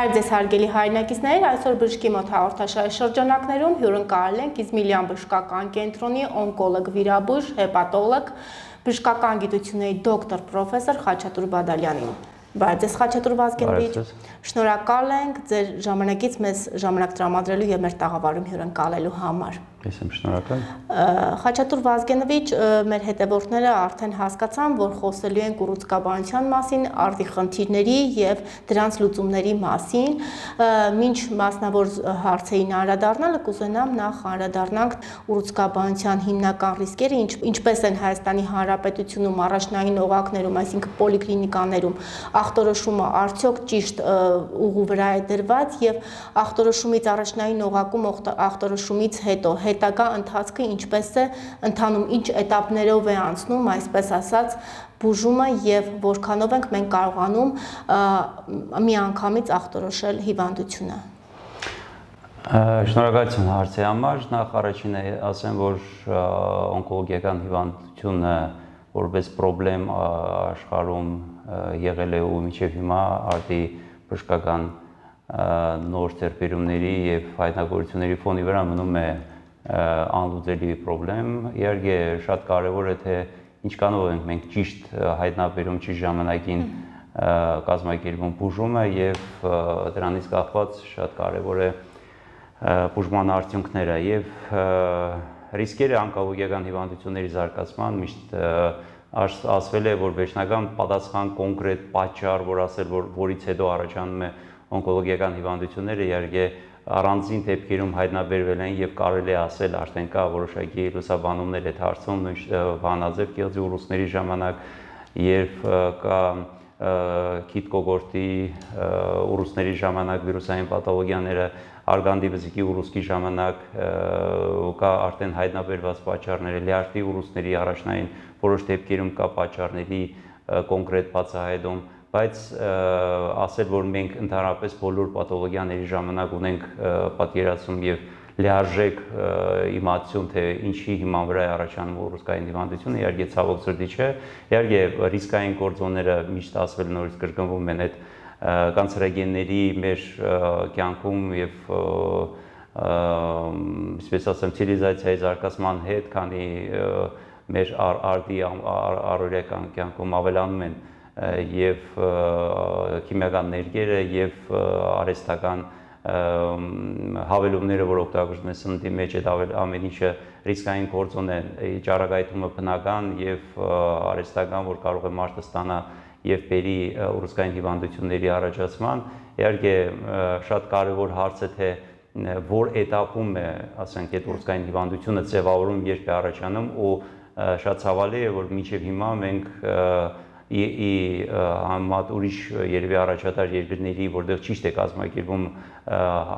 Բարև ձեզ հարգելի հայրենակիցներ, այսօր բժշկի մոտ հաղորդաշարի շրջանակներում հյուրընկալել ենք Իզմիլյան բժշկական կենտրոնի օնկոլոգ վիրաբույժ, հեպատոլոգ, բժշկական գիտությունների դոկտոր պրոֆեսոր Խաչատուր Բադալյանին։ Բարև ձեզ Խաչատուր Վազգենովիչ, շնորհակալ ենք ձեր ժամանակից մեզ ժամանակ տրամադրելու եւ մեր տաղավարում հյուրընկալելու համար։ Ես եմ շնորհակալ։ Խաչատուր Վազգենովիչ, մեր հետևորդները արդեն հասկացան, որ խոսելու ենք ուռուցքաբանության մասին, արդի խնդիրների եւ դրանց լուծումների մասին։ Մինչ մասնավոր հարցերին անդրադառնալը կուզենամ նախ անդրադառնանք ուռուցքաբանության հիմնական ռիսկերը, ինչպես են Հայաստանի Հանրապետությունում առաջնային օղակներում, այսինքն պոլիկլինիկաներում, ախտորոշումը արդյոք ճիշտ ուղու վրա է դրված եւ ախտորոշումից առաջնային օղակում ախտորոշումից հետո հետագա ընթացքը ինչպես է ընթանում, ինչ էտապներով է անցնում, այսպես ասած, բուժումը եւ որքանով ենք մենք կարողանում միանգամից ախտորոշել հիվանդությունը։ Շնորհակալություն հարցի համար։ Նախ առաջինը ասեմ, որ օնկոլոգիական հիվանդությունը որպես խնդրեմ աշխարհում եղել է ու մինչև հիմա արդի բժշկական նոր ձեռքբերումների եւ հայտնագործությունների ֆոնի վրա մնում է անլուծելի խնդրեմ։ Իհարկե շատ կարեւոր է թե ինչքանով ենք մենք ճիշտ հայտնաբերում ճիշտ ժամանակին կազմակերպում բուժումը եւ դրանից կախված շատ կարեւոր է բուժման արդյունքները եւ ռիսկերը օնկոլոգիական հիվանդությունների զարգացման միշտ ասվել է, որ վերջնական պատասխան կոնկրետ պատճառ, որ ասել, որ որից հետո առաջանում է օնկոլոգիական հիվանդությունները, իհարկե առանձին դեպքերում հայտնաբերվել են եւ կարելի է ասել արդեն կա որոշակի լուսաբանումներ այդ հարցում, վանաձև գեղձի ուռուցքների ժամանակ եւ կա քիթկոգորտի ուռուցքների ժամանակ վիրուսային պաթոլոգիաները, արգանդի վզիկի ուռուցքի ժամանակ կա արդեն հայտնաբերված պատճառներ, լյարդի ուռուցքների առաջնային որոշ դեպքերում կա պատճառների կոնկրետ բացահայտում, բայց ասել, որ մենք ընդհանրապես բոլոր պաթոլոգիաների ժամանակ ունենք պատկերացում եւ լիարժեք իմացություն, թե ինչի հիման վրա է առաջանում ուռուցքային հիվանդությունը, իհարկե ցավոք սրտի չէ, իհարկե ռիսկային գործոնները միշտ ասվել նորից կրկնվում են այդ կանցերոգենների մեր կյանքում եւ այսպես ասեմ ցիվիլիզացիայի զարգացման հետ, քանի մեր արդի առօրյա կյանքում ավելանում են եւ քիմիական ներկերը եւ արհեստական հավելումները, որ օգտագործվում են սննդի մեջ, այդ ամեն ինչը ռիսկային գործոն է, ճառագայթումը բնական եւ արհեստական, որ կարող է մարդը ստանա եւ բերի ուռուցքային հիվանդությունների առաջացման։ Իհարկե շատ կարեւոր հարց է թե որ էտապում է, ասենք, այդ ուռուցքային հիվանդությունը ձևավորում, երբ է առաջանում ու շատ ցավալի է, որ մինչև հիմա մենք համեմատ ուրիշ երևի առաջատար երկրների, որտեղ ճիշտ է կազմակերպվում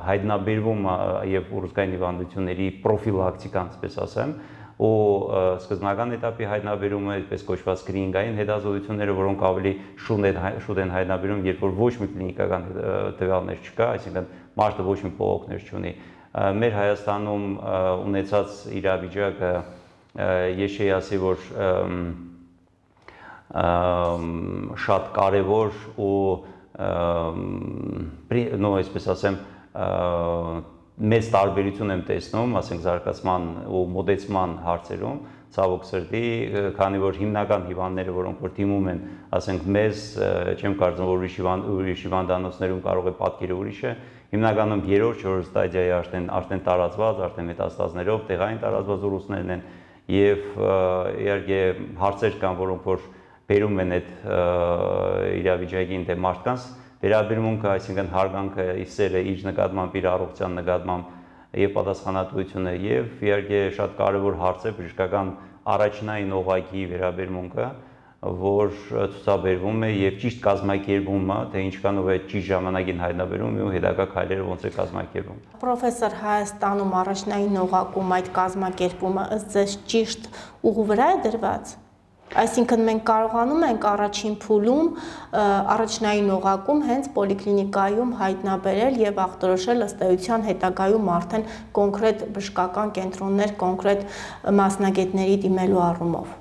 հայտնաբերվում եւ ուռուցքային հիվանդությունների պրոֆիլակտիկան, այսպես ասեմ, ու սկզբնական էտապի հայտնաբերումը, այսպես կոչված սկրինինգային հետազոտությունները, որոնք ավելի շուտ են հայտնաբերում, երբ որ ոչ մի կլինիկական տվյալներ չկա, այսինքն մարդը ոչ մի բողոքներ չունի։ Մեր Հայաստանում ունեցած իրավիճակը ես չի ասի, որ շատ կարևոր ու այսպես ասեմ մեծ տարբերություն եմ տեսնում, ասենք զարգացման ու մոդեցման հարցերում, ցավոք սրտի, քանի որ հիմնական հիվանդները, որոնք որ դիմում են, ասենք մեզ, չեմ կարծում, որ ուրիշ հիվանդանոցներում կարող է պատկերը ուրիշ է, հիմնականում երրորդ, չորրորդ ստադիայի արդեն տարածված, արդեն մետաստազներով տեղային տարածված ուռուցքներն են եւ իհարկե հարցեր կան, որոնք որ բերում են այդ իրավիճակին դե մարդկանց վերաբերմունքը, այսինքն հարգանքը, սերը իր նկատմամբ, իր առողջության նկատմամբ եւ պատասխանատվությունը եւ իհարկե շատ կարեւոր հարց է բժշկական առաջնային օղակի վերաբերմունքը, որ ցուցաբերվում է եւ ճիշտ կազմակերպումը, թե ինչքանով է ճիշտ ժամանակին հայտնաբերում ու հետագա քայլերը ոնց է կազմակերպվում։ Պրոֆեսոր, Հայաստանում առաջնային օղակում այդ կազմակերպումը ըստ ձեզ ճիշտ ուղու վրա է դրված։ Այսինքն մենք կարողանում ենք առաջին փուլում առաջնային օղակում հենց պոլիկլինիկայում հայտնաբերել եւ ախտորոշել ըստ էության հետագայում արդեն կոնկրետ բժշկական կենտրոններ, կոնկրետ մասնագետների դիմելու առումով։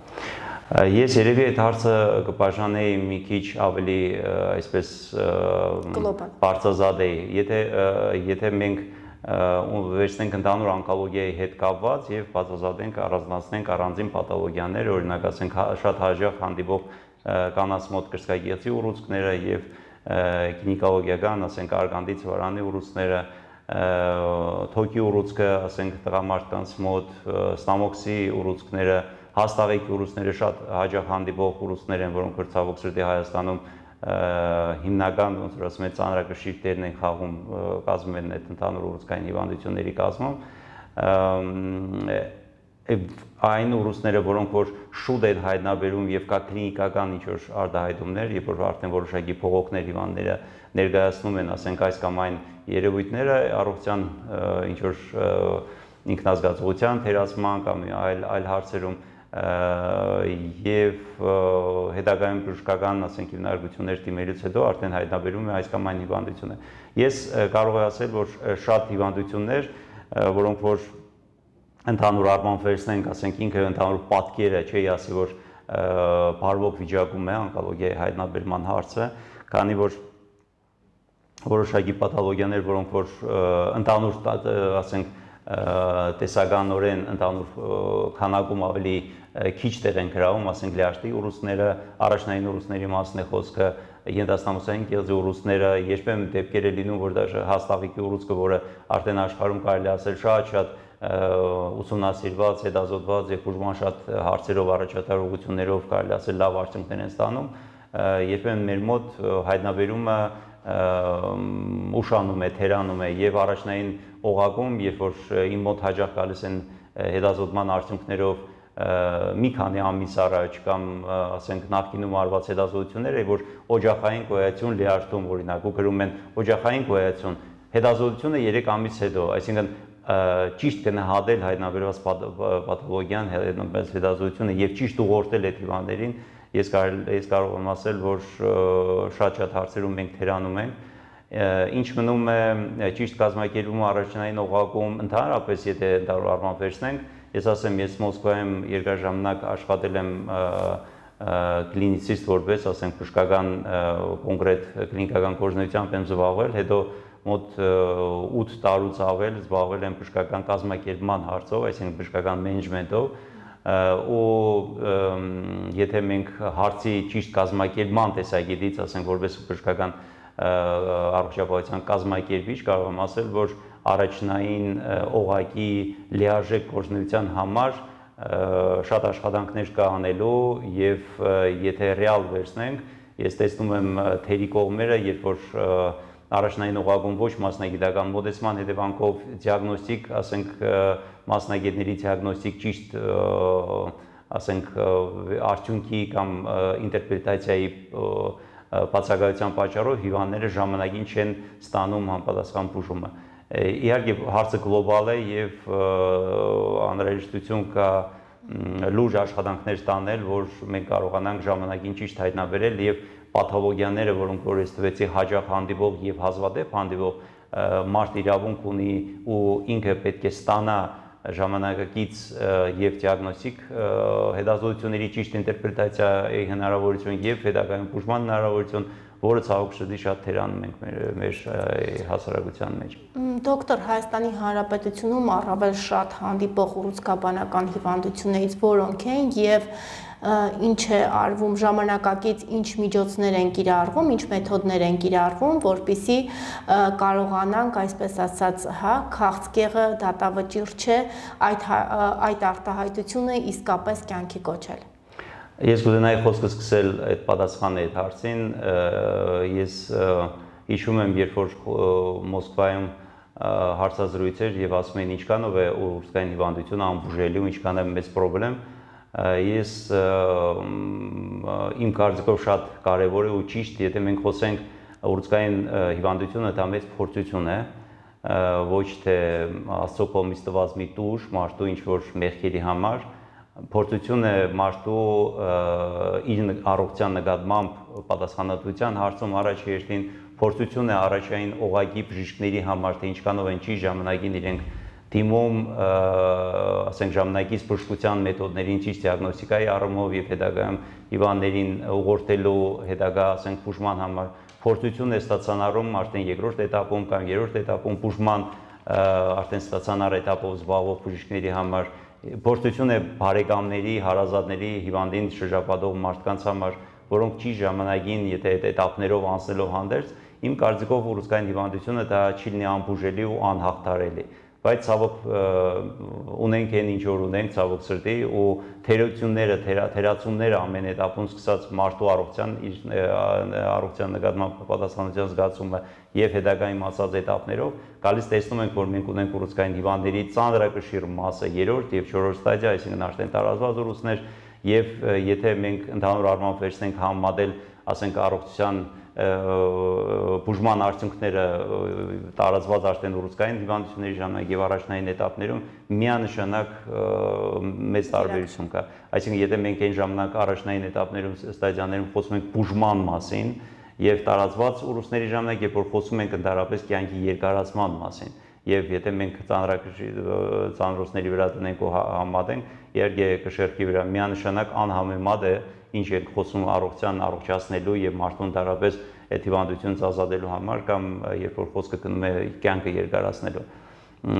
Ես երևի այդ հարցը կբաժանեի մի քիչ ավելի այսպես բարձրազատ էի, եթե մենք վերցնենք ընդհանուր օնկոլոգիայի հետ կապված եւ բացազատենք, առանձնացնենք առանձին պաթոլոգիաներ, օրինակ ասենք շատ հաճախ հանդիպող կանանց մոտ կրծքագեղձի ուռուցքները եւ գինեկոլոգիական, ասենք արգանդի ծվարանի ուռուցքները, թոքի ուռուցքը, ասենք տղամարդկանց մոտ, ստամոքսի ուռուցքները, հաստաղեկի ուռուցքները շատ հաճախ հանդիպող ուռուցքներ են, որոնք որ ցավոք սրտի Հայաստանում հիմնական ոնց որ ասում են ծանրակշիռ դերն են խաղում, կազմում են այդ ընդհանուր ուռուցքային հիվանդությունների կազմում, այն ուռուցքները, որոնք որ շուտ են հայտնաբերում եւ կա կլինիկական ինչ-որ արտահայտումներ, երբ որ արդեն որոշակի փողոքներ հիվանդները ներկայացնում են, ասենք այս կամ այն երևույթները առողջության ինչ-որ ինքնազգացողության թերացման կամ այլ հարցերում եւ հետագայում բժշկական, ասենք հիմնարկություններ դիմելուց հետո արդեն հայտնաբերում է այս կամ այն հիվանդությունը։ Ես կարող եմ ասել, որ շատ հիվանդություններ, որոնք որ ընդհանուր առմամբ վերցնենք, ասենք ինքը ընդհանուր պատկերը, չի ասի, որ բարվոք վիճակում է օնկոլոգիայի հայտնաբերման հարցը, քանի որ որոշակի պաթոլոգիաներ, որոնք որ ընդհանուր, ասենք տեսականորեն ընդհանուր քանակում ավելի քիչ տեղ են գրավում, ասենք լյարդի ուռուցքները, առաջնային ուռուցքների մասն է խոսքը, ենթաստամոսային կեղձի ուռուցքները, երբեմն դեպքեր է լինում, որ դաժե հաստաղիկի ուռուցքը, որը արդեն աշխարհում կարելի ասել շատ ուսումնասիրված, հետազոտված եւ բուժման շատ հարցերով առաջատար ուղղություններով կարելի ասել լավ արդյունքներ են ստանում, երբեմն մեր մոտ հայտնաբերումը ուշանում է, թերանում է եւ առաջնային օղակում, երբ որ իմ մոտ հաճախ գալիս են հետազոտման արդյունքներով մի քանի ամիս առաջ կամ ասենք նախկինում արված հետազոտությունները, որ օջախային գոյություն լյարդում օրինակ ու գրում են օջախային գոյություն, հետազոտությունը 3 ամիս հետո, այսինքն ճիշտ գնահատել հայտնաբերված պաթոլոգիան, հետազոտությունը եւ ճիշտ ուղղորդել այդ հիվանդներին, ես կարող եմ ասել, որ շատ հարցերում մենք թերանում ենք, ինչ մնում է ճիշտ կազմակերպումը առաջնային օղակում, ընդհանրապես եթե ընդհանուր առմամբ վերցնենք, ես ասեմ, ես Մոսկվայում երկար ժամանակ աշխատել եմ կլինիցիստ որպես, ասենք բժշկական կոնկրետ կլինիկական գործունեությամբ եմ զբաղվել, հետո մոտ 8 տարուց ավել զբաղվել եմ բժշկական կազմակերպման հարցով, այսինքն բժշկական մենեջմենթով, ու եթե մենք հարցի ճիշտ կազմակերպման տեսակետից, ասենք որպես բժշկական առողջապահության կազմակերպիչ, կարող եմ ասել, որ առաջնային օղակի լիարժեք գործունեության համար շատ աշխատանքներ կա անելու եւ եթե ռեալ վերցնենք, ես տեսնում եմ թերի կողմերը, երբ որ առաջնային օղակում ոչ մասնագիտական մոտեցման հետևանքով դիագնոստիկ, ասենք մասնագետների դիագնոստիկ ճիշտ, ասենք արդյունքի կամ ինտերպրետացիայի բացակայության պատճառով հիվանդները ժամանակին չեն ստանում համապատասխան բուժումը։ Իհարկե հարցը գլոբալ է եւ անհրաժեշտություն կա լուրջ աշխատանքներ տանել, որ մենք կարողանանք ժամանակին ճիշտ հայտնաբերել եւ պաթոլոգիաները, որոնք որ ես տվեցի հաճախ հանդիպող եւ հազվադեպ հանդիպող մարդ իրավունք ունի ու ինքը պետք է ստանա ժամանակակից եւ դիագնոստիկ հետազոտությունների ճիշտ ինտերպրետացիայի հնարավորություն եւ հետագայում բուժման հնարավորություն, որը ցավոք սրտի շատ թերանում ենք մեր հասարակության մեջ։ Դոկտոր, Հայաստանի Հանրապետությունում առավել շատ հանդիպող ուռուցքաբանական հիվանդություններից որոնք են եւ ինչ է արվում ժամանակակից, ինչ միջոցներ են կիրառվում, ինչ մեթոդներ են կիրառվում, որպեսզի կարողանանք, այսպես ասած, քաղցկեղը դատավճիռ չէ, այդ արտահայտությունը իսկապես կյանքի կոչել։ Ես կուզենայի խոսքը սկսել այդ պատասխանը այդ հարցին, ես հիշում եմ, երբ որ Մոսկվայում հարցազրույց էր եւ ասում էին ինչքանով է ուռուցքային հիվանդությունը անբուժելի ու ինչքան է մեծ խնդրեմ, ես իմ կարծիքով շատ կարևոր է ու ճիշտ, եթե մենք խոսենք ուռուցքային հիվանդությունը, դա մեծ փորձություն է, ոչ թե Աստծո կողմից տված մի տուժ մարդու ինչ որ մեղքերի համար, փորձություն է մարդու իր առողջության նկատմամբ պատասխանատվության հարցում առաջ երթին, փորձություն է առաջային օղակի բժիշկների համար, թե ինչքանով են ճիշտ ժամանակին իրենք դիմում, ասենք ժամանակից բժշկության մեթոդներին ճիշտ դիագնոստիկայի առումով եւ հետագայում հիվանդներին ուղղորդելու հետագա, ասենք բուժման համար փորձություն է ստացանարում արդեն երկրորդ էտապում կամ երրորդ էտապում բուժման արդեն ստացանար էտապով զբաղվող բժիշկների համար փորձություն է բարեկամների, հարազատների, հիվանդին շրջապատող մարդկանց համար, որոնք ճիշտ ժամանակին, եթե այդ էտապներով անցնելով հանդերձ, իմ կարծիքով ուռուցքային հիվանդությունը դա չի լինի անբուժելի ու անհաղթարելի, բայց ցավոք ունենք այն ինչ որ ունենք, ցավոք սրտի ու թերությունները, թերացումները ամեն էտապում սկսած մարդու առողջության նկատմամբ պատասխանատվության զգացումը եւ հետագայում ասած էտապներով գալիս տեսնում ենք, որ մենք ունենք ուռուցքային հիվանդների ծանրակշիռ մասը երրորդ եւ չորրորդ ստադիա, այսինքն արդեն տարածված ուռուցքներ եւ եթե մենք ընդհանուր առմամբ վերցնենք համեմատել, ասենք առողջության բուժման արդյունքները տարածված արդեն ուռուցքային հիվանդությունների ժամանակ եւ առաջնային էտապներում միանշանակ մեծ տարբերություն կա։ Այսինքն եթե մենք այն ժամանակ առաջնային էտապներում ստադիաներում խոսում ենք բուժման մասին եւ տարածված ուռուցքների ժամանակ, երբ որ խոսում ենք ընդհանրապես կյանքի երկարացման մասին, եւ եթե մենք ծանրոցների վրա տնենք ու համատենք, իհարկե կշեռքի վրա միանշանակ անհամեմատ է ինչ ենք խոսում առողջության առողջացնելու եւ մարդուն ընդհանրապես այդ հիվանդությունից ազատելու համար կամ երբ որ խոսքը գնում է կյանքը երկարացնելու։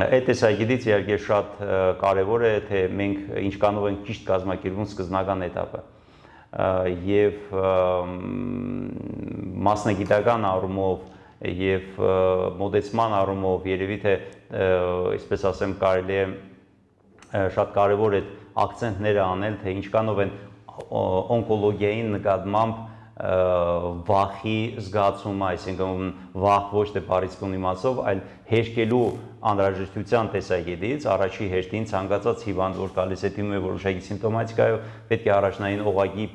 Այդ տեսակետից իհարկե շատ կարեւոր է թե մենք ինչքանով ենք ճիշտ կազմակերպում սկզբնական էտապը եւ մասնագիտական առումով եւ մոդեցման առումով երևի թե այսպես ասեմ կարելի է շատ կարեւոր է ակցենտները անել թե ինչքանով են օնկոլոգիային նկատմամբ վախի զգացումը, այսինքն վախ ոչ թե բարիցկուն իմացով, այլ հեշտելու անհրաժեշտության տեսակետից առաջի հեշտին ցանկացած հիվանդ, որ գալիս է դիմում է որոշակի սիմպտոմատիկայով, պետք է առաջնային օղակի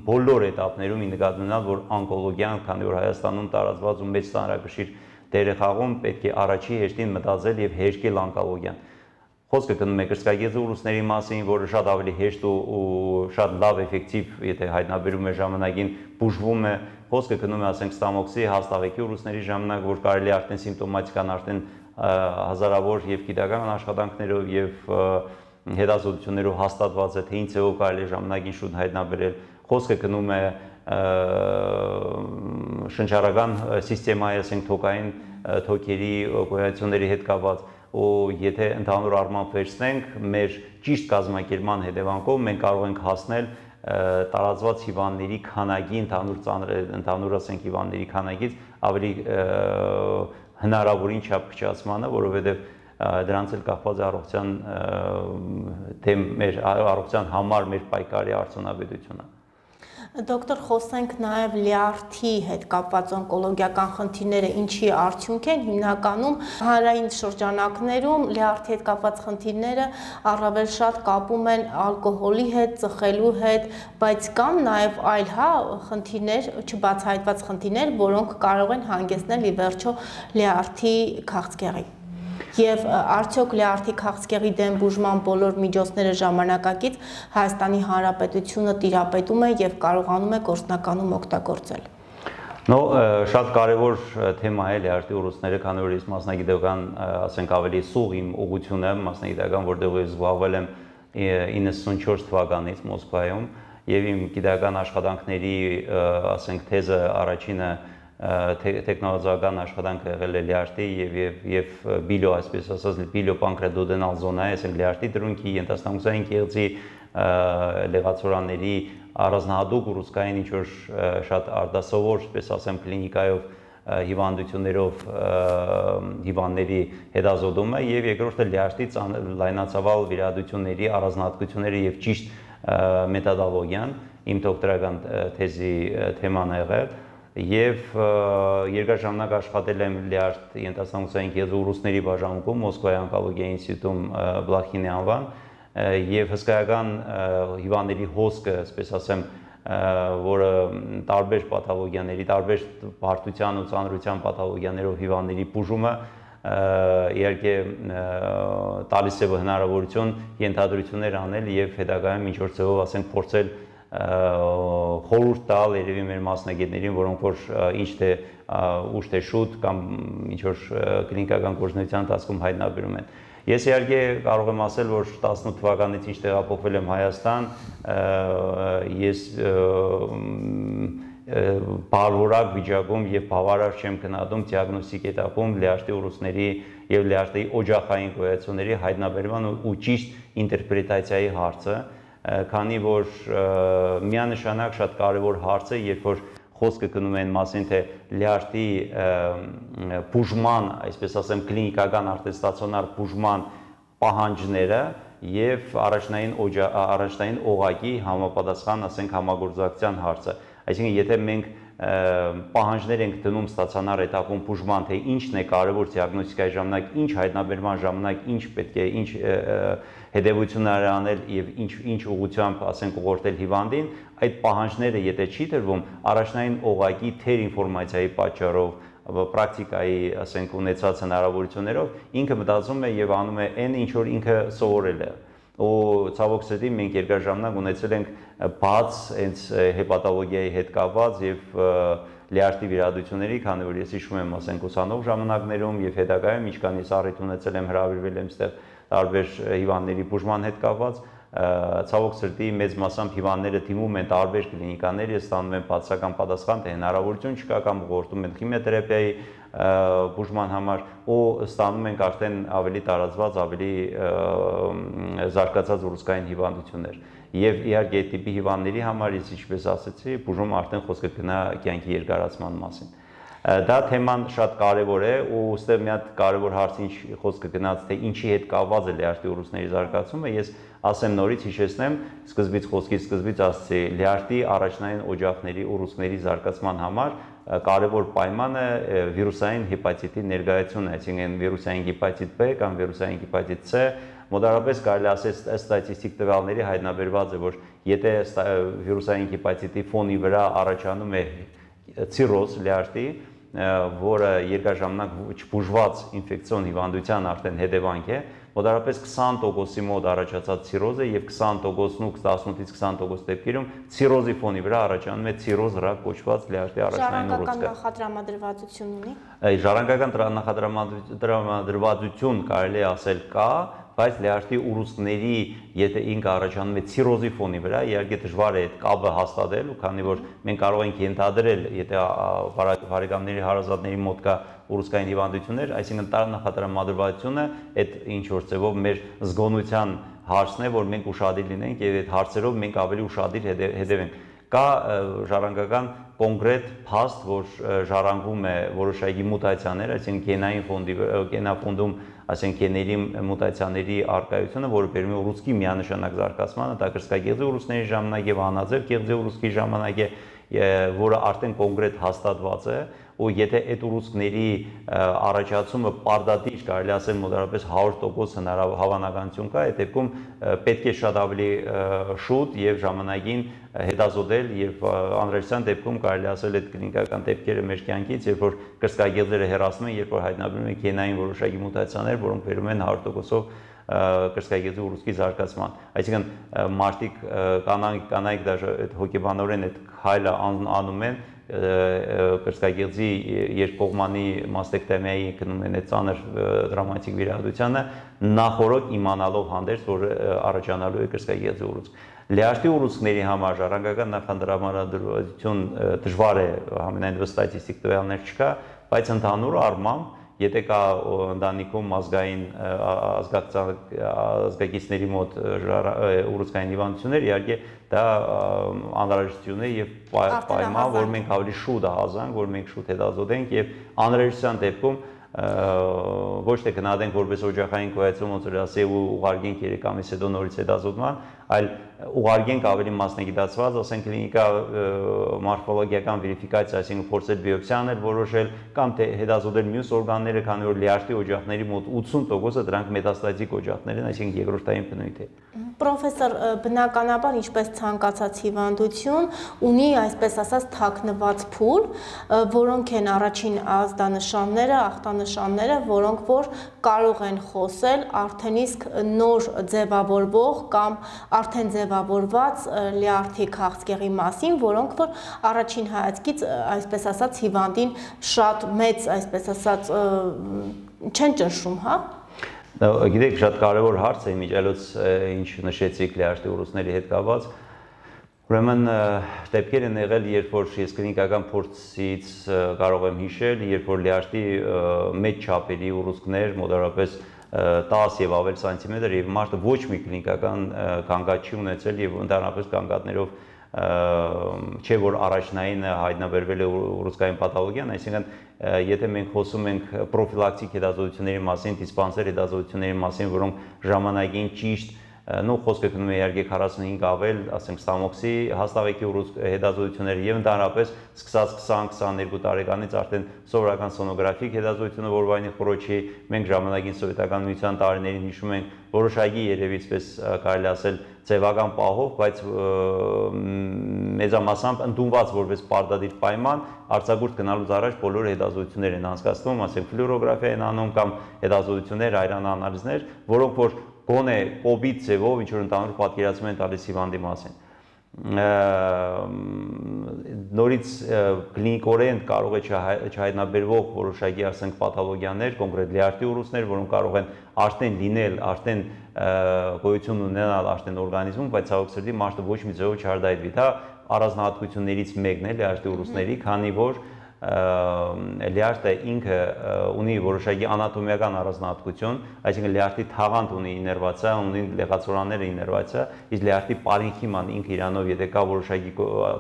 բոլոր էտապներում նկատի ունենալ, որ օնկոլոգիան, քանի որ Հայաստանում տարածված ու մեծ ծանրակշիռ դեր է խաղում, պետք է առաջի հեշտին մտածել եւ հեշտել օնկոլոգիան։ Խոսքը գնում է կրծքագեծի ուռուցքների մասին, որը շատ ավելի հեշտ ու շատ լավ էֆեկտիվ, եթե հայտնաբերում է ժամանակին, բուժվում է։ Խոսքը գնում է, ասենք, ստամոքսի, հաստաղեկի ուռուցքների ժամանակ, որ կարելի է արդեն սիմպտոմատիկան արդեն հազարավոր եւ գիտական աշխատանքներով եւ հետազոտություններով հաստատված է, թե ինչ ձևով կարելի է ժամանակին շուտ հայտնաբերել։ Խոսքը գնում է շնչառական սիստեմայի, ասենք, թոքային թոքերի գոյացությունների հետ կապված ու եթե ընդհանուր առմամբ վերցնենք մեր ճիշտ կազմակերպման հետևանքով մենք կարող ենք հասնել տարածված հիվանդների քանակի ընդհանուր ասենք հիվանդների քանակից ավելի հնարավորին չափ քչացմանը, որովհետև դրանց էլ կախված է առողջության մեր առողջության համար մեր պայքարի արդյունավետությունը։ Դոկտոր, խոսենք նաև լյարդի հետ կապված օնկոլոգիական խնդիրները ինչի արդյունք են, հիմնականում հանրային շրջանակներում լյարդի հետ կապված խնդիրները առավել շատ կապում են ալկոհոլի հետ, ծխելու հետ, բայց կան նաև այլ խնդիրներ, չբացահայտված խնդիրներ, որոնք կարող են հանգեցնել ի վերջո լյարդի քաղցկեղի։ Եվ արդյոք լյարդի քաղցկեղի դեմ բուժման բոլոր միջոցները ժամանակակից Հայաստանի Հանրապետությունը տիրապետում է եւ կարողանում է գործնականում օգտագործել։ Շատ կարևոր թեմա է լյարդի ուռուցքները, քանի որ ես մասնագիտական, ասենք ավելի սուղ իմ ուղղությունը մասնագիտական, որտեղ ես զբաղվել եմ 94 թվականից Մոսկվայում եւ իմ գիտական աշխատանքների, ասենք, թեզը առաջինը տեխնոլոգիական աշխատանքը եղել է լյարդի եւ բիլո, այսպես ասած, բիլոպանկրեդոդենալ զոնայի, այսինքն լյարդի դրունքի, ենթաստամոքսային կեղծի, լեղացորանների առանձնահատուկ ուռուցքային ինչ-որ շատ արտասովոր, այսպես ասեմ, կլինիկայով հիվանդություններով հիվանդների հետազոտումը եւ երկրորդը լյարդի լայնածավալ վիրահատությունների առանձնահատկությունները եւ ճիշտ մեթոդոլոգիան, իմ դոկտորական թեզի թեման է եղել եւ երկար ժամանակ աշխատել եմ լյարդ ենթաստամոքսային կեղծի ուռուցքների բաժանմունքում Մոսկվայի օնկոլոգիայի ինստիտուտում Բլախինի անվան եւ հսկայական հիվանդների հոսքը, այսպես ասեմ, որը տարբեր պաթոլոգիաների, տարբեր բարդության ու ծանրության պաթոլոգիաներով հիվանդների բուժումը իհարկե տալիս է հնարավորություն ենթադրություններ անել եւ հետագայում ինչ-որ ձևով, ասենք, փորձել խորհուրդ տալ երևի մեր մասնագետներին, որոնք որ ինչ թե ուշ թե շուտ կամ ինչ որ կլինիկական գործունեության ընթացքում հայտնաբերում են։ Ես իհարկե կարող եմ ասել, որ 18 թվականից ինչ տեղափոխվել եմ Հայաստան, ես բարորակ վիճակում եւ բավարար չեմ գնահատում դիագնոստիկ этаպում լյարդի ուռուցքների եւ լյարդի օջախային գոյացությունների հայտնաբերման ու ճիշտ ինտերպրետացիայի հարցը, քանի որ միանշանակ շատ կարեւոր հարց է, երբ որ խոսքը գնում են մասին, թե լյարդի բուժման, այսպես ասեմ, կլինիկական արտեստացիոնար բուժման պահանջները եւ առաջնային օղակի համապատասխան, ասենք, համագործակցության հարցը։ Այսինքն, եթե մենք պահանջներ ենք դնում ստացիոնար этаպում բուժման, թե ինչն է կարևոր դիագնոստիկայի ժամանակ, ինչ հայտնաբերման ժամանակ, ինչ պետք է, ինչ հետևություններ անել եւ ինչ ուղղությամբ, ասենք, ուղղորդել հիվանդին, այդ պահանջները եթե չի դրվում, առաջնային օղակի թեր ինֆորմացիայի պատճառով, պրակտիկայի, ասենք, ունեցած հնարավորություններով ինքը մտածում է եւ անում է այն, ինչ որ ինքը սովորել է։ Ու ցավոք սրտի մենք երկար ժամանակ ունեցել ենք բաց հենց հեպատոլոգիայի հետ կապված եւ լյարդի վիրահատությունների, քանի որ ես հիշում եմ, ասենք, ուսանող ժամանակներում եւ հետագայում ինչքան ես առիթ ունեցել եմ հրավիրվել եմ այստեղ տարբեր հիվանդների բուժման հետ կապված, ցավոք սրտի մեծ մասամբ հիվանդները դիմում են տարբեր կլինիկաներ, ստանում են բացական պատասխան, թե հնարավորություն չկա կամ ուղղորդում են քիմիոթերապիայի բուժման համար ու ստանում ենք արդեն ավելի տարածված, ավելի զարգացած ուռուցքային հիվանդություններ։ Եվ իհարկե այդ տիպի հիվանդների համար, ես ինչպես ասացի, բուժումը արդեն խոսքը գնա կյանքի երկարացման մասին։ Դա թեման շատ կարևոր է ու ուստեղ մի հատ կարևոր հարց ինչ խոսքը գնաց, թե ինչի հետ կապված է լյարդի ուռուցքների զարգացումը, ես ասեմ նորից հիշեցնեմ, սկզբից ասացի, լյարդի առաջնային օջախների ուռուցքների զարգացման համար կարևոր պայմանը վիրուսային հեպատիտի ներկայությունն է, այսինքն վիրուսային հեպատիտ B կամ վիրուսային հեպատիտ C, մոտավորապես կարելի ասել ստատիստիկ տվյալների հայտնաբերված է, որ եթե վիրուսային հեպատիտի ֆոնի վրա առաջանում է ցիրոզ լյարդի, որը երկար ժամանակ չբուժված ինֆեկցիոն հիվանդության արդեն հետևանք է, մոտավորապես 20%-ի մոտ առաջացած ցիրոզը եւ 20%-ն 18-ից 20% դեպքերում ցիրոզի ֆոնի վրա առաջանում է ցիրոզ ռակ կոչված լյարդի առաջնային ուռուցքը։ Նախադրամադրվածություն ունի։ Ժառանգական նախադրամադրվածություն կարելի է ասել կա, բայց լյարդի ուռուցքների, եթե ինքը առաջանում է ցիրոզի ֆոնի վրա, իհարկե դժվար է այդ կապը հաստատել, ու քանի որ մենք կարող ենք ենթադրել, եթե բարեկամների հարազատների մոտ կա ուռուցքային հիվանդություններ, այսինքն նախադրամադրվածությունը այդ ինչ որ ձևով մեր զգոնության հարցն է, որ մենք ուշադիր լինենք եւ այդ հարցերով մենք ավելի ուշադիր հետևենք։ Կա ժառանգական կոնկրետ փաստ, որ ժառանգում է որոշակի մուտացիաներ, այսինքն գենաֆոնդում, ասենք, գեների մուտացիաների արկայությունը, որը բերում է ուռուցքի միանշանակ զարգացմանը, դա կրծքագեղձի ուռուցքների ժամանակ եւ անաձև գեղձի ուռուցքի ժամանակ է, որը արդեն կոնկրետ հաստատված է, ու եթե այդ ուռուցքների առաջացումը պարդատիր, կարելի ասել մոտավորապես 100% հավանականություն կա, այդ դեպքում պետք է շատ ավելի շուտ եւ ժամանակին հետազոտել եւ անհրաժեշտության դեպքում կարելի ասել այդ կլինիկական դեպքերը մեր կյանքից, երբ որ կրծքագեղձերը հեռացնում են, երբ որ հայտնաբերում են գենային որոշակի մուտացիաներ, որոնք բերում են 100%-ով կրծքագեղձի ուռուցքի զարգացման։ Այսինքն մարդիկ կանայք դաժե հոգեբանորեն այդ քայլը անում են, կրծքագեղձի երկկողմանի մաստեկտոմիայի գնում են այդ ծանր տրավմատիկ վիրահատությանը, նախորդ իմանալով հանդերձ, որ առաջանալու է կրծքագեղձի ուռուցք։ Լյարդի ուռուցքների համար ժառանգական նախադրամադրվածություն դժվար է, համենայնիվ ստատիստիկ տվյալներ չկա, բայց ընդհանուր առմամբ եթե կա ընտանիքում ազգային ազգակիցների մոտ ուռուցքային հիվանդություններ, իհարկե դա անհրաժեշտություն է եւ պայման, որ մենք ավելի շուտ հազանք, որ մենք շուտ հետազոտենք եւ անհրաժեշտության դեպքում ոչ թե գնահատենք որպես օջախային գոյացում, ոնց որ ասի ու ուղարկենք 3 ամիս հետո նորից հետազոտման, այլ ուղարկենք ավելի մասնագիտացված, ասենք կլինիկա մորֆոլոգիական վերիֆիկացիա, այսինքն փորձել բիոպսիաներ որոշել կամ թե հետազոտել մյուս օրգանները, քանի որ լյարդի օջախների մոտ 80%-ը դրանք մետաստատիկ օջախներ են, այսինքն երկրորդային բնույթ է։ Պրոֆեսոր, բնականաբար, ինչպես ցանկացած հիվանդություն, ունի այսպես ասած թաքնված փուլ, որոնք են առաջին ազդանշանները, ախտանշանները, որոնք որ կարող են խոսել արդեն իսկ նոր ձևավորվող կամ արդեն ձևավորված լյարդի քաղցկեղի մասին, որոնք որ առաջին հայացքից, այսպես ասած, հիվանդին շատ մեծ, այսպես ասած, չեն ճնշում, հա։ Գիտեք, շատ կարևոր հարց է իմիջիայլոց ինչ նշեցիք լյարդի ուռուցքների հետ կապված։ Ուրեմն դեպքեր են եղել, երբ որ ես կլինիկական փորձից կարող եմ հիշել, երբ որ լյարդի մեծ չափերի ուռուցքներ, մոտավորապես 10 եւ ավել սանտիմետր եւ մարդը ոչ մի կլինիկական կանգատ չի ունեցել եւ ընդհանրապես կանգատներով չէ որ առաջնային հայտնաբերվել է ուռուցքային պաթոլոգիան, այսինքն եթե մենք խոսում ենք պրոֆիլակտիկ հետազոտությունների մասին, դիսպանսեր հետազոտությունների մասին, որոնք ժամանակին ճիշտ խոսքը գնում է իհարկե 45 ավել, ասենք ստամոքսի հաստավեկի հետազոտությունները եւ ընդհանրապես սկսած 20-22 տարեկանից արդեն սովորական սոնոգրաֆիկ հետազոտությունը որովայնի խորոչի մենք ժամանակին սովետական միության տարիներին հիշում ենք որոշակի երևի այսպես կարելի ասել ձևական պահով, բայց մեծամասամբ ընդունված որպես պարտադիր պայման արձակուրդ գնալուց առաջ բոլոր հետազոտություններ են անցկացվում, ասենք ֆլյուորոգրաֆիա են անում կամ հետազոտություններ, այրանանալիզներ, որոնք որ գոնե կոբիտ ձևով ինչ որ ընդհանուր պատկերացում են տալիս հիվանդի մասին։ Նորից կլինիկորեն կարող է չհայտնաբերվող որոշակի ասենք պաթոլոգիաներ, կոնկրետ լյարդի ուռուցքներ, որոնք կարող են արդեն լինել, արդեն գոյություն ունենալ արդեն օրգանիզմում, բայց ցավոք սրտի մարդը ոչ մի ձևով չհարդայվի։ Դա առանձնահատկություններից մեկն է լյարդի ուռուցքների, քանի որ լյարդը ինքը ունի որոշակի անատոմիական առանձնահատկություն, այսինքն լյարդի թաղանթ ունի իներվացիա, ունի լեղացորանները իներվացիա, իսկ լյարդի պարենքիման ինքը իրանով եթե կա որոշակի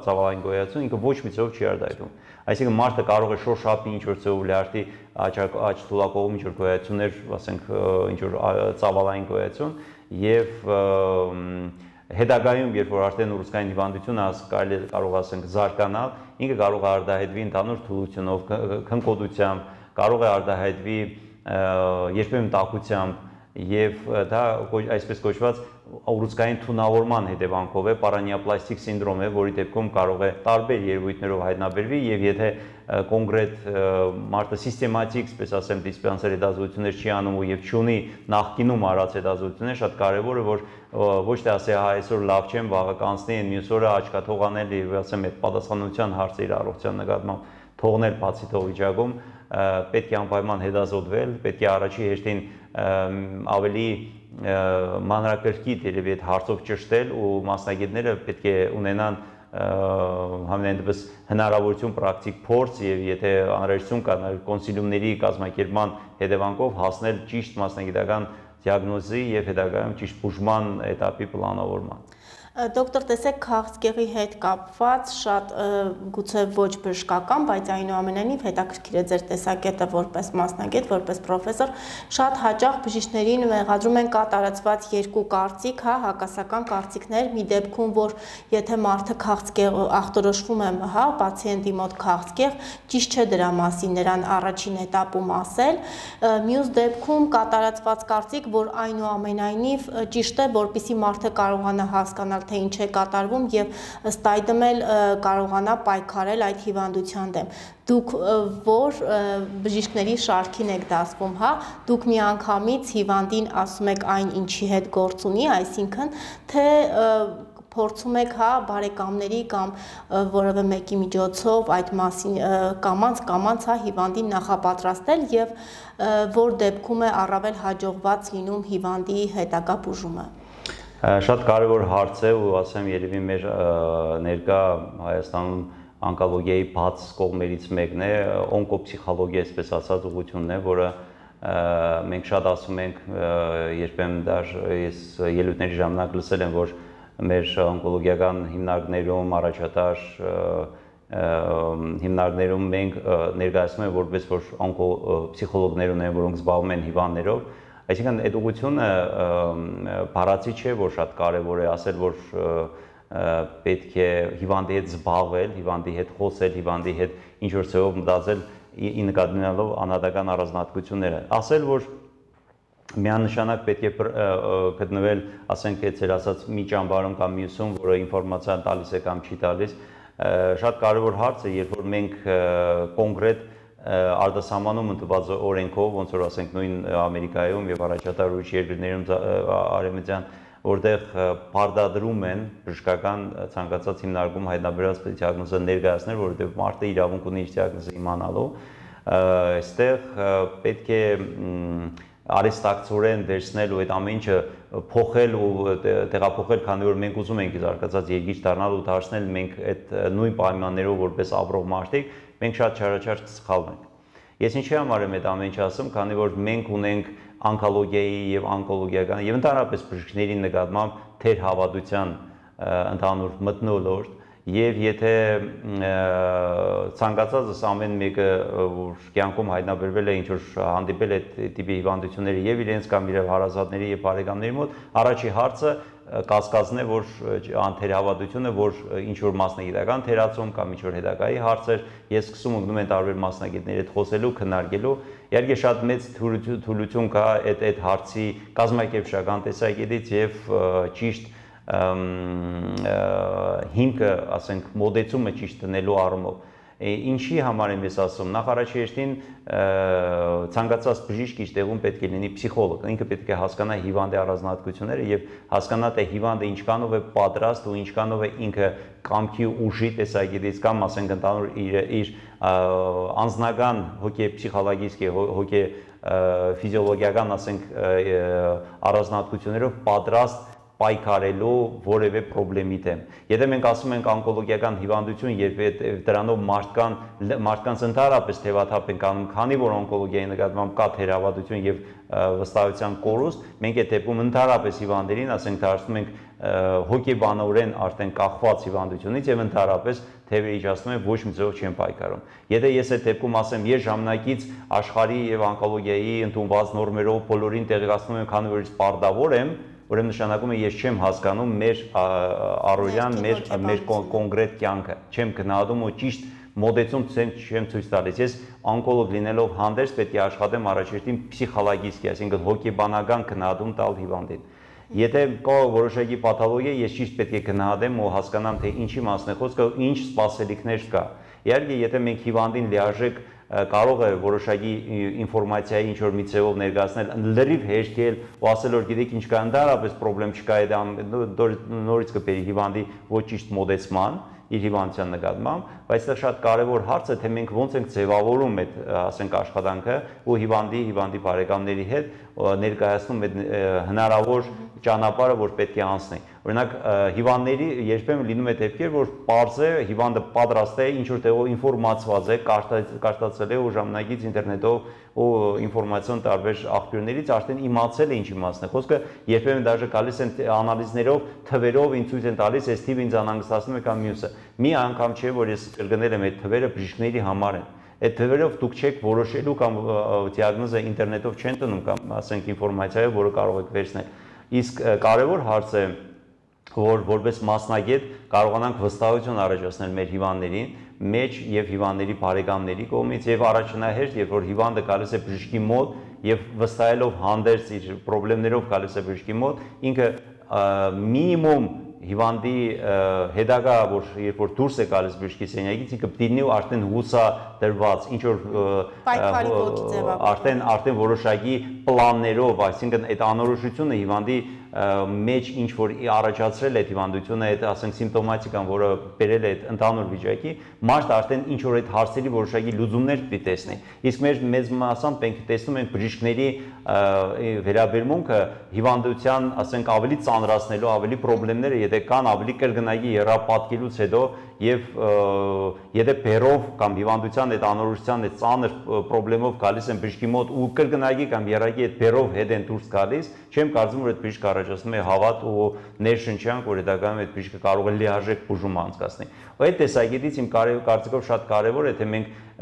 ծավալային գոյացություն, ինքը ոչ մի ձևով չի արտահայտվում։ Այսինքն մարդը կարող է շոշափի ինչ որ ձևով լյարդի աջ թուլակողում ինչ որ գոյացություններ, ասենք ինչ որ ծավալային գոյացություն եւ հետագայում, երբ որ արդեն ուռուցքային հիվանդությունը կարող ասենք զարգանալ, ինքը կարող է արտահայտվի ընդհանուր թուլությունով, քնկոտությամբ, կարող է արտահայտվի երբեմն տաքությամբ եւ դա այսպես կոչված ուռուցքային թունավորման հետևանքով է, պարանիապլաստիկ սինդրոմ է, որի դեպքում կարող է տարբեր երևույթներով հայտնաբերվի եւ եթե կոնկրետ մարդը սիստեմատիկ, այսպես ասեմ, դիսպանսեր հետազոտություններ չի անում եւ չունի նախկինում արած հետազոտություններ, շատ կարեւոր է որ ոչ թե ասի հա այսօր լավ չեմ, վաղը կանցնի, մյուս օրը աչքաթող անել եւ ասեմ այդ պատասխանատվության հարցը իր առողջության նկատմամբ թողնել բացի թող վիճակում, պետք է անպայման հետազոտվել, պետք է առաջի հերթին ավելի մանրակրկիտ երևի այդ հարցով ճշտել ու մասնագետները պետք է ունենան համենայն դեպս հնարավորություն պրակտիկ փորձ եւ եթե անհրաժեշտություն կա կոնսիլիումների կազմակերպման հետևանքով հասնել ճիշտ մասնագիտական դիագնոզի եւ հետագայում ճիշտ բուժման էտապի պլանավորման։ Դոկտոր, տեսեք, քաղցկեղի հետ կապված շատ գուցե ոչ բժշկական, բայց այնուամենայնիվ հետաքրքիր է ձեր տեսակետը որպես մասնագետ, որպես պրոֆեսոր, շատ հաճախ բժիշկներին մեղադրում են կա տարածված երկու կարծիք, հա, հակասական կարծիքներ, մի դեպքում, որ եթե մարդը քաղցկեղ ախտորոշվում է, հա, պացիենտի մոտ քաղցկեղ, ճիշտ չէ դրա մասին նրան առաջին էտապում ասել, մյուս դեպքում կա տարածված կարծիք, որ այնուամենայնիվ ճիշտ է, որպեսզի մարդը կարողանա հասկանալ թե ինչ է կատարվում եւ ըստ այդմ էլ կարողանա պայքարել այդ հիվանդության դեմ։ Դուք որ բժիշկների շարքին եք դասվում, հա, դուք միանգամից հիվանդին ասում եք այն ինչի հետ գործ ունի, այսինքն թե փորձում եք հա բարեկամների կամ որևէ մեկի միջոցով այդ մասին կամանց հա հիվանդին նախապատրաստել եւ որ դեպքում է առավել հաջողված լինում հիվանդի հետագա բուժումը։ Շատ կարևոր հարց է ու ասեմ երևի մեր ներկա Հայաստանում օնկոլոգիայի բաց կողմերից մեկն է, օնկոփսիխոլոգիա, այսպես ասած, ուղղությունն է, որը մենք շատ ասում ենք, երբեմն դեռ ես ելույթների ժամանակ լսել եմ, որ մեր օնկոլոգիական հիմնարկներում, առաջատար հիմնարկներում մենք ներկայացնում ենք որպես որ օնկոփսիխոլոգներ ունեն, որոնք զբաղվում են հիվանդներով։ Այսինքն այդ ուղղությունը բառացի չէ, որ շատ կարևոր է ասել, որ պետք է հիվանդի հետ զբաղվել, հիվանդի հետ խոսել, հիվանդի հետ ինչ-որ ձևով մտածել ի նկատի ունենալով անհատական առանձնահատկությունները։ Ասել, որ միանշանակ պետք է գտնվել, ասենք, այդ ձեր ասած մի ճամբարում կամ մյուսում, որը ինֆորմացիա տալիս է կամ չի տալիս, շատ կարևոր հարց է, երբ որ մենք կոնկրետ արտասահմանում ընդված օրենքով, ոնց որ ասենք նույն Ամերիկայում եւ առաջատար ուրիշ երկրներում արևմտյան, որտեղ պարտադրում են բժշկական ցանկացած հիմնարկում հայտնաբերած դիագնոզը ներկայացնել, որովհետեւ մարդը իրավունք ունի իր դիագնոզը իմանալու, այստեղ պետք է արհեստակցորեն վերցնել ու այդ ամեն ինչը փոխել ու տեղափոխել, քանի որ մենք ուզում ենք զարգացած երկիր դառնալ ու դարձնել մենք այդ նույն պայմաններով որպես ապրող մարդիկ, մենք շատ չարաչար կսխալվենք։ Ես ինչի համար եմ այդ ամեն ինչը ասում, քանի որ մենք ունենք օնկոլոգիայի եւ օնկոլոգիական եւ ընդհանրապես բժիշկների նկատմամբ թերհավատության ընդհանուր մթնոլորտ եւ եթե ցանկացածս ամեն մեկը որ կյանքում հայտնաբերվել է ինչ որ հանդիպել է տիպի հիվանդությունների եւ իրենց կամ իր հարազատների եւ բարեկամների մոտ, առաջի հարցը կասկածն է, որ անթերհավատությունը, որ ինչ որ մասնագիտական թերացում կամ ինչ որ հետագայի հարցեր, ես սկսում ընկնում են տարբեր մասնագետների հետ խոսելու, քննարկելու, իհարկե շատ մեծ թուլություն կա այդ հարցի կազմակերպչական տեսակետից եւ ճիշտ հիմքը, ասենք, մոդեցումը ճիշտ դնելու առումով։ Ինչի համար եմ ես ասում, նախ առաջին ցանկացած բժիշկ իր տեղում պետք է լինի փսիխոլոգ, ինքը պետք է հասկանա հիվանդի առանձնահատկությունները եւ հասկանա թե հիվանդը ինչքանով է պատրաստ ու ինչքանով է ինքը կամքի ուժի տեսակետից կամ ասենք ընդհանուր իր անձնական հոգեփսիխոլոգիական հոգե ֆիզիոլոգիական ասենք առանձնահատկություններով պատրաստ պայքարելու որևէ խնդրի դեմ։ Եթե մենք ասում ենք օնկոլոգիական հիվանդություն, երբ դրանով մարդկանց ընդհանրապես թևաթափ ենք անում, քանի որ օնկոլոգիայի նկատմամբ կա թերահավատություն եւ վստահության կորուստ, մենք այդ դեպքում ընդհանրապես հիվանդերին, ասենք, դարձնում ենք հոգեբանորեն արդեն կախված հիվանդությունից եւ ընդհանրապես թևերը իջացնում են, ոչ մի ձեւով չեն պայքարում։ Եթե ես այդ դեպքում ասեմ, ես ժամանակից աշխարհի եւ օնկոլոգիայի ընդունված նորմերով բոլորին տեղեկացնում եմ, քանի որ ես պարտավոր եմ, ուրեմն նշանակում է ես չեմ հասկանում մեր առօրյան, մեր կոնկրետ կյանքը, չեմ գնահատում ու ճիշտ մոդեցում չեմ ցույց տալիս։ Ես օնկոլոգ լինելով հանդերձ պետք է աշխատեմ առաջին փսիխոլոգիստի, այսինքն հոգեբանական գնահատում տալ հիվանդին։ Եթե կա որոշակի պաթոլոգիա, ես ճիշտ պետք է գնահատեմ ու հասկանամ, թե ինչի մասն է խոսքը, ինչ սպասելիքներ կա։ Իհարկե, եթե մենք հիվանդին լիարժեք կարող է որոշակի ինֆորմացիայի ինչ որ մի ձևով ներկայացնել, լրիվ հեշտել ու ասել որ գիտեք ինչ կա, ընդհանրապես խնդրեմ չկա, դա նորից կբերի հիվանդի ոչ ճիշտ մոդեցման իր հիվանդության նկատմամբ, բայց դա շատ կարևոր հարց է, թե մենք ոնց ենք ձևավորում այդ, ասենք, աշխատանքը ու հիվանդի բարեկամների հետ ներկայացնում այդ հնարավոր ճանապարհը, որ պետք է անցնի։ Օրինակ, հիվանդների երբեմն լինում է դեպքեր, որ պարզ է հիվանդը պատրաստ է, ինչ որ տեղով ինֆորմացված է, կարդացել է ու ժամանակից ինտերնետով ու ինֆորմացիոն տարբեր աղբյուրներից արդեն իմացել է ինչի մասն է խոսքը, երբեմն դաժե գալիս են անալիզներով, թվերով ինձ ցույց են տալիս, այս թիվը ինձ անհանգստացնում է կամ մյուսը։ Մի անգամ չէ, որ ես կրկնել եմ այդ թվերը բժիշկների համար են։ Այդ թվերով դուք չեք որոշելու կամ դիագնոզը ինտերնետով չեն տնում կամ ասենք ինֆորմացիայով, որը կարող եք վերցնել։ Իսկ կարևոր հարց է, որ որպես մասնագետ կարողանանք վստահություն առաջացնել մեր հիվանդներին մեջ եւ հիվանդների բարեկամների կողմից եւ առաջնահերթ, երբ որ հիվանդը գալիս է բժշկի մոտ եւ վստահելով հանդերձ իր խնդիրներով գալիս է բժշկի մոտ, ինքը մինիմում հիվանդի հետագա, որ երբ որ դուրս է գալիս բժշկի սենյակից, ինքը պետք է լինի արդեն հուսադրված, ինչ որ արդեն որոշակի պլաններով, այսինքն այդ անորոշությունը հիվանդի մեջ ինչ որ առաջացրել է հիվանդությունը, այդ ասենք սիմպտոմատիկան, որը բերել է այդ ընդհանուր վիճակի, մարդը արդեն ինչ որ այդ հարցերի որոշակի լուծումներ պետք է տեսնի։ Իսկ մեր մեծ մասամբ մենք տեսնում ենք բժիշկների վերաբերմունքը հիվանդության, ասենք, ավելի ծանրացնելու, ավելի խնդիրները, եթե կան, ավելի կրկնակի եռապատկելուց հետո եւ եթե բերով կամ հիվանդության այդ անորոշության այդ ծանր խնդրով գալիս են բժշկի մոտ ու կրկնակի կամ երակի այդ բերով հետ են դուրս գալիս, չեմ կարծում որ այդ բժիշկը առաջացնում է հավատ ու ներշնչանք, որ հետագայում այդ բժիշկը կարող է լիարժեք բուժում անցկացնի։ Այդ տեսակետից իմ կարծիքով շատ կարևոր է, թե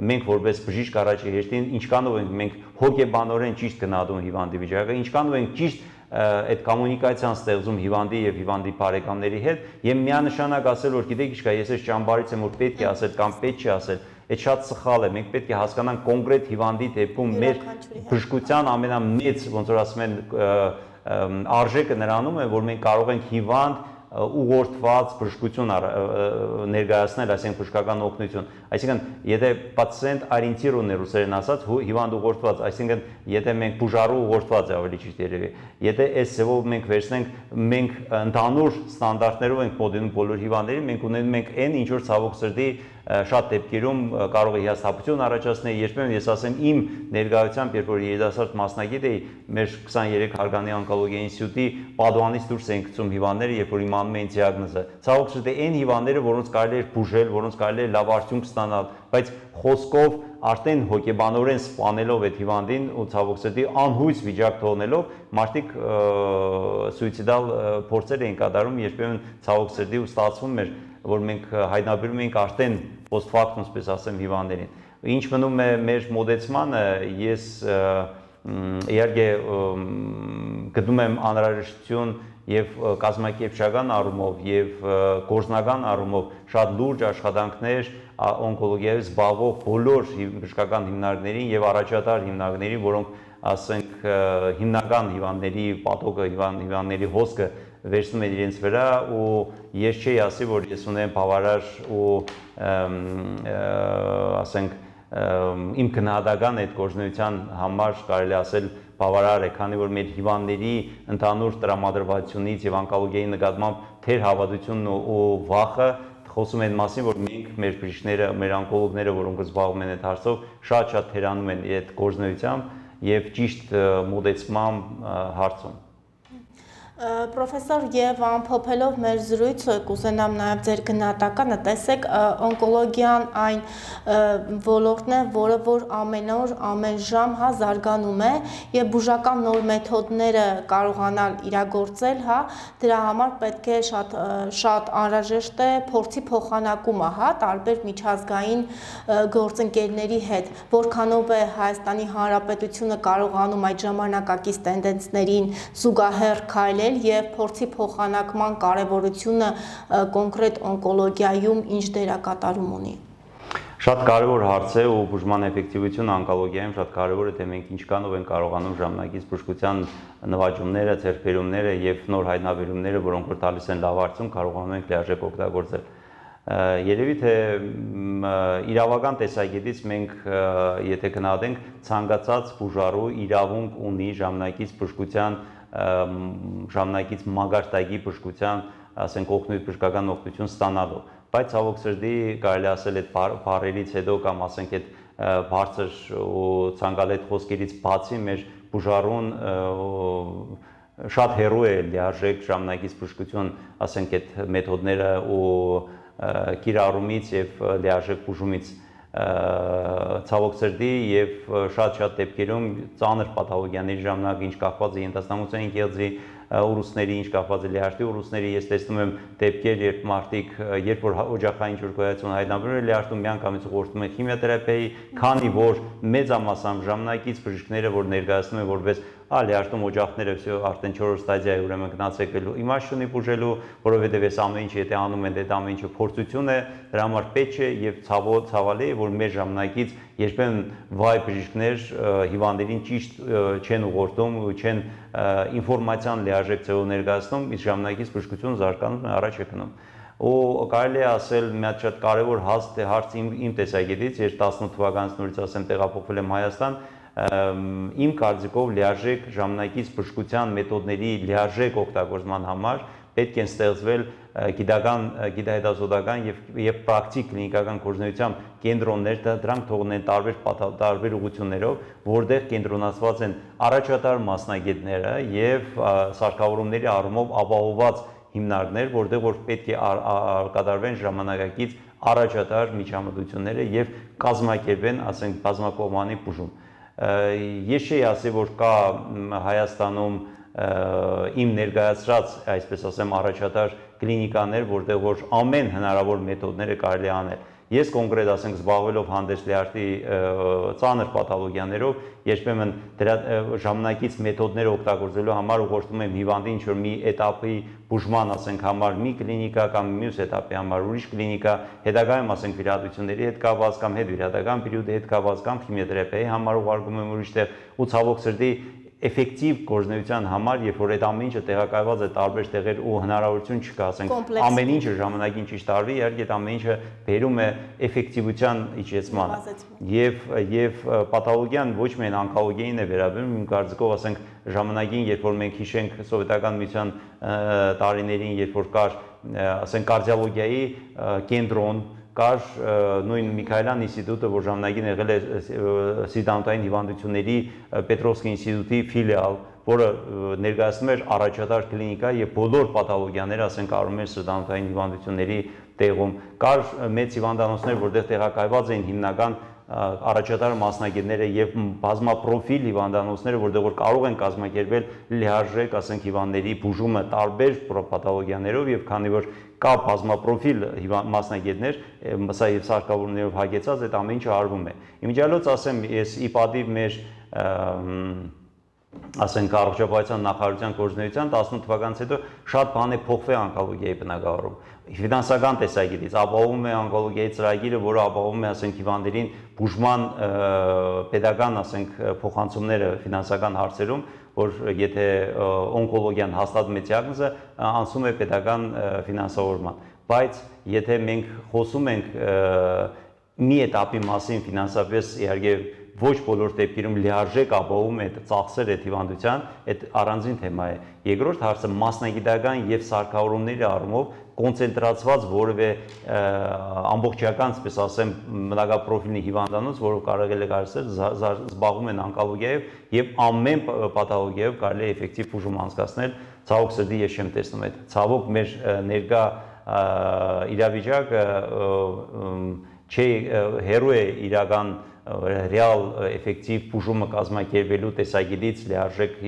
մենք որպես բժիշկ առաջի հերթին ինչքանով ենք մենք հոգեբանորեն ճիշտ գնահատում հիվանդի վիճակը, ինչքանով ենք ճիշտ այդ կոմունիկացիան ստեղծում հիվանդի եւ հիվանդի բարեկամների հետ եւ միանշանակ ասել որ գիտեք ինչ կա, ես այս ճամբարից եմ որ պետք է ասել կամ պետք չի ասել, այդ շատ սխալ է, մենք պետք է հասկանանք կոնկրետ հիվանդի դեպքում մեր բժշկության ամենամեծ, ոնց որ ասում են, արժեքը նրանում է, որ մենք կարող ենք հիվանդ ուղղորդված բժշկություն ներկայացնել, այսինքն բժշկական օգնություն։ Այսինքն, եթե պացիենտ օրիենտիրованный ռուսերեն ասած, հիվանդ ուղղորդված, այսինքն, եթե մենք բուժարու ուղղորդված է ավելի ճիշտ երևի։ Եթե այս ձևով մենք վերցնենք, մենք ընդհանուր ստանդարտներով ենք մոդելում բոլոր հիվանդներին, մենք ունենում ենք այն ինչ որ ցավոք սրտի շատ դեպքերում կարող է հիասթափություն առաջացնել, երբեմն ես ասեմ իմ ներկայությամբ, երբ որ երիտասարդ մասնագետ էի, մեր 23 հարգանի օնկոլոգիա ինստիտուտի պատուհանից դուրս էին գցում հիվանդները, երբ որ իմանում էին դիագնոզը։ Ցավոք սրտի այն հիվանդները, որոնց կարելի էր բուժել, որոնց կարելի էր լավ արդյունք ստանալ, բայց խոսքով արդեն հոգեբանորեն սպանելով այդ հիվանդին ու ցավոք սրտի անհույս վիճակ թողնելով մարդիկ սուիցիդալ փորձեր էին կատարում, երբեմն ցավոք սրտի ու ստացվում էր, որ մենք հայտնաբերում ենք արդեն post factum, ասպես ասեմ, հիվանդներին։ Ինչ մնում է մեր մոդեցմանը, ես իհարկե գտնում եմ անհրաժեշտություն եւ կազմակերպչական առումով եւ գործնական առումով շատ լուրջ աշխատանքներ օնկոլոգիայով զբաղվող բոլոր բժշկական հիմնարկներին եւ առաջատար հիմնարկներին, որոնք ասենք հիմնական հիվանդների պատոգը, հիվանդների հոսքը վերցնում են իրենց վրա ու ես չի ասի, որ ես ունեմ բավարար ու ասենք իմ գնահատական այդ գործունեության համար կարելի ասել բավարար է, քանի որ մեր հիվանդների ընդհանուր տրամադրվածությունից եւ օնկոլոգիայի նկատմամբ թեր հավատությունն ու վախը խոսում են մասին, որ մենք մեր բժիշկները, մեր օնկոլոգները, որոնք զբաղվում են այդ հարցով, շատ թերանում են այդ գործունեությամբ եւ ճիշտ մոդեցման հարցում։ Պրոֆեսոր, եւ ամփոփելով մեր զրույցը, կուզենամ նաեւ ձեր գնահատականը, տեսեք, օնկոլոգիան այն ոլորտն է, որը որ ամեն օր, ամեն ժամ զարգանում է եւ բուժական նոր մեթոդները կարողանալ իրագործել, դրա համար պետք է շատ անհրաժեշտ է փորձի փոխանակումը, տարբեր միջազգային գործընկերների հետ, որքանով է Հայաստանի Հանրապետությունը կարողանում այդ ժամանակակից տենդենսներին զուգահեռ քայլել եւ փորձի փոխանակման կարեւորությունը կոնկրետ օնկոլոգիայում ինչ դերակատարում ունի։ Շատ կարևոր հարց է ու բուժման էֆեկտիվությունը օնկոլոգիայում շատ կարևոր է, թե մենք ինչքանով ենք կարողանում ժամանակից բժշկության նվաճումները, ձեռքբերումները եւ նոր հայտնաբերումները, որոնք որ տալիս են լավ արդյունք, կարողանում ենք լիարժեք օգտագործել։ Երևի թե իրավական տեսակետից մենք եթե գնահատենք ցանկացած բուժարու իրավունք ունի ժամանակից բժշկության ժամանակից մագարտակի բժշկության, ասենք օգնույթ բժշկական օգնություն ստանալու, բայց ցավոք սրտի կարելի ասել այդ բառերից հետո կամ ասենք այդ բարձր ու ցանկալետ խոսքերից բացի մեր բուժարուն շատ հեռու է լիարժեք ժամանակից բժշկություն, ասենք այդ մեթոդները ու կիրառումից եւ լիարժեք բուժումից ցավոք սրտի եւ շատ դեպքերում ծանր պաթոլոգիաների ժամանակ ինչ կախված է ենթաստամության գեղձի ուռուցքների, ինչ կախված է լիարժի ուռուցքների, ես տեսնում եմ դեպքեր, երբ մարդիկ, երբ որ օջախային ջրգոյացություն հայտնաբերում են լիարժում, միանգամից ուղղորդում են քիմիոթերապիայի, քանի որ մեծամասամբ ժամանակից բժիշկները, որ ներկայացնում են որպես լիարժում օջախները արդեն 4-րդ ստադիայի ուրեմն գնացել իմաստ չունի բուժելու, որովհետև այս ամեն ինչը եթե անում են, դա ամեն ինչը փորձություն է, դրա համար պետք է եւ ցավալի է, որ մեր ժամանակից երբեմն վայ բժիշկներ հիվանդերին ճիշտ չեն ուղղորդում ու չեն ինֆորմացիան լիարժեք ձևով ներկայացնում, իսկ ժամանակից բժշկությունը զարգանում է, առաջ է գնում։ Ու կարելի է ասել մի հատ շատ կարևոր հարց իմ տեսակետից, ես 18 թվականից նորից ասեմ տեղափոխվել եմ Հայաստան, իմ կարծիքով լիարժեք ժամանակից բժշկության մեթոդների լիարժեք օգտագործման համար պետք են ստեղծվել գիտահետազոտական եւ պրակտիկ կլինիկական գործունեության կենտրոններ, դրանք թողնեն տարբեր ուղղություններով, որտեղ կենտրոնացված են առաջատար մասնագետները եւ սարքավորումների առումով ապահովված հիմնարկներ, որտեղ որ պետք է կատարվեն ժամանակակից առաջատար միջամտությունները եւ կազմակերպեն, ասենք, բազմակողմանի բուժում։ Ես չի ասի, որ կա Հայաստանում իմ ներկայացրած, այսպես ասեմ, առաջատար կլինիկաներ, որտեղ որ ամեն հնարավոր մեթոդները կարելի անել։ Ես կոնկրետ ասենք զբաղվելով հանդես լիարժի ծանր պաթոլոգիաներով, երբեմն դրա ժամանակից մեթոդներ օգտագործելու համար ուղղորդում եմ հիվանդին ինչ-որ մի էտապի բուժման, ասենք, համար մի կլինիկա կամ մյուս էտապի համար ուրիշ կլինիկա, հետագայում ասենք վիրահատությունների հետ կապված կամ հետվիրահատական պերիոդի հետ կապված կամ քիմիոթերապիայի համար ուղարկում եմ ուրիշ տեղ ու ցավոք սրտի էֆեկտիվ գործունեության համար, երբ որ այդ ամեն ինչը տեղակայված է տարբեր տեղեր ու հնարավորություն չկա, ասենք, ամեն ինչը ժամանակին ճիշտ արվի, իհարկե այդ ամեն ինչը բերում է էֆեկտիվության իջեցմանը։ Եվ պաթոլոգիան ոչ միայն օնկոլոգիային է վերաբերում, իմ կարծիքով, ասենք, ժամանակին, երբ որ մենք հիշենք սովետական միության տարիներին, երբ որ կար, ասենք, կարդիոլոգիայի կենտրոն կար նույն Միքայելյան ինստիտուտը, որ ժամանակին եղել է սիրտանոթային հիվանդությունների Պետրովսկի ինստիտուտի ֆիլիալ, որը ներկայացնում էր առաջատար կլինիկա եւ բոլոր պաթոլոգիաները, ասենք, արում էր սրտանոթային հիվանդությունների տեղում։ Կար մեծ հիվանդանոցներ, որտեղ տեղակայված էին հիմնական առաջատար մասնագետները եւ բազմապրոֆիլ հիվանդանոցները, որտեղ որ կարող են կազմակերպել լիարժեք, ասենք, հիվանդների բուժումը տարբեր պաթոլոգիաներով եւ քանի որ կա բազմապրոֆիլ մասնագետներ, սա եւ սարքավորումներով հագեցած այդ ամեն ինչը արվում է։ Իմիջիալոց ասեմ, ես ի պատիվ մեր ասենք առողջապահության նախարարության գործունեության 18 թվականից հետո շատ բան է փոխվել օնկոլոգիայի բնագավառում։ Ֆինանսական տեսակետից ապահովում է օնկոլոգիայի ծրագիրը, որը ապահովում է, ասենք, հիվանդերին բուժման պետական, ասենք, փոխանցումները ֆինանսական հարցերում, որ եթե օնկոլոգիան հաստատում է դիագնոզը, անցում է պետական ֆինանսավորման։ Բայց եթե մենք խոսում ենք մի էտապի մասին ֆինանսապես, իհարկե ոչ բոլոր դեպքերում լիարժեք ապահովում է ծախսեր այդ հիվանդության, այդ առանձին թեմա է։ Երկրորդ հարցը մասնագիտական եւ սարքավորումների առումով կոնցենտրացված որևէ ամբողջական, այսպես ասեմ, մնագապրոֆիլի հիվանդանոց, որը կարելի է կարծել զբաղվում են օնկոլոգիայով եւ ամեն պաթոլոգիայով կարելի է էֆեկտիվ բուժում անցկացնել։ Ցավոք սրտի ես չեմ տեսնում այդ։ Ցավոք մեր ներկա իրավիճակը չէ հերո է իրական ռեալ էֆեկտիվ բուժումը կազմակերպելու տեսակետից լիարժեք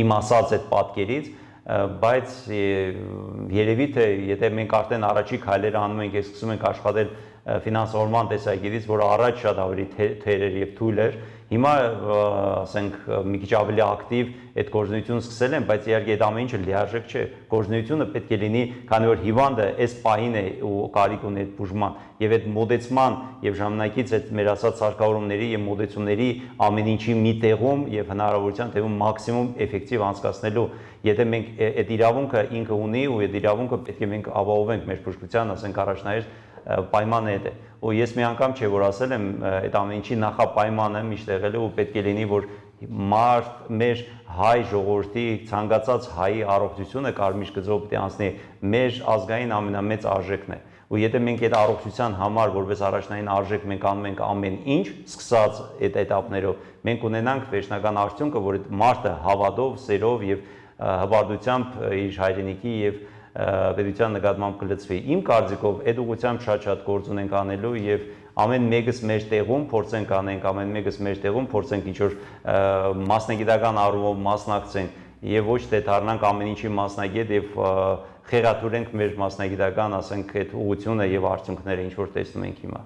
իմացած այդ պատկերից, բայց երևի թե եթե մենք արդեն առաջի քայլերը անում ենք, սկսում ենք աշխատել ֆինանսավորման տեսակետից, որը առաջ շատ ավելի թեր էր եւ թույլ էր, հիմա ասենք մի քիչ ավելի ակտիվ այդ գործունեությունը սկսել են, բայց իհարկե այդ ամեն ինչը լիարժեք չէ։ Գործունեությունը պետք է լինի, քանի որ հիվանդը այս պահին է ու կարիք ունի այդ բուժման եւ այդ մոդեցման եւ ժամանակից այդ մեր ասած սարքավորումների եւ մոդեցումների ամեն ինչի մի տեղում եւ հնարավորության տեղում մաքսիմում էֆեկտիվ անցկացնելու։ Եթե մենք այդ իրավունքը ինքը ունի ու այդ իրավունքը պետք է մենք ապահովենք մեր բժշկության, ասենք, առաջնահերթ պայմանը այդ է։ Ու ես մի անգամ չէ որ ասել եմ այդ ամեն ինչի նախապայմանը միշտ եղել է ու պետք է լինի որ մեր հայ ժողովրդի ցանկացած հայի առողջությունը կարմիր գծով պետք է անցնի մեր ազգային ամենամեծ արժեքն է։ Ու եթե մենք այդ առողջության համար որպես առաջնային արժեք մենք անում ենք ամեն ինչ, սկսած այդ этаպներով, մենք ունենանք վերջնական արդյունքը, որ այդ մարդը հավատով, սերով եւ հպարտությամբ իր հայրենիքի եւ պետության նկատմամբ կլծվի։ Իմ կարծիքով այդ ուղղությամբ շատ գործ ունենք անելու եւ ամեն մեկս մեր տեղում փորձենք անենք, ամեն մեկս մեր տեղում փորձենք ինչ-որ մասնագիտական առումով մասնակցենք եւ ոչ թե դառնանք ամեն ինչի մասնագետ եւ խեղաթյուրենք մեր մասնագիտական, ասենք, այդ ուղղությունը եւ արդյունքները, ինչ որ տեսնում ենք հիմա։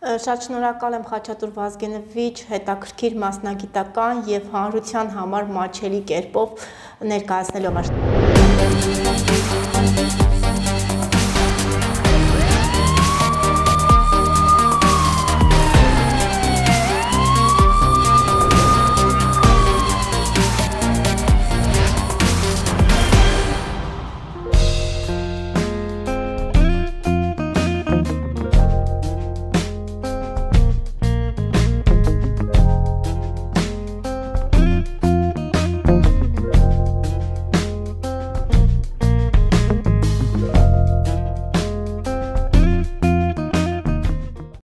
Շատ շնորհակալ եմ Խաչատուր Վազգենովիչ հետաքրքիր մասնագիտական եւ հանրության համար մատչելի կերպով ներկայացնելով։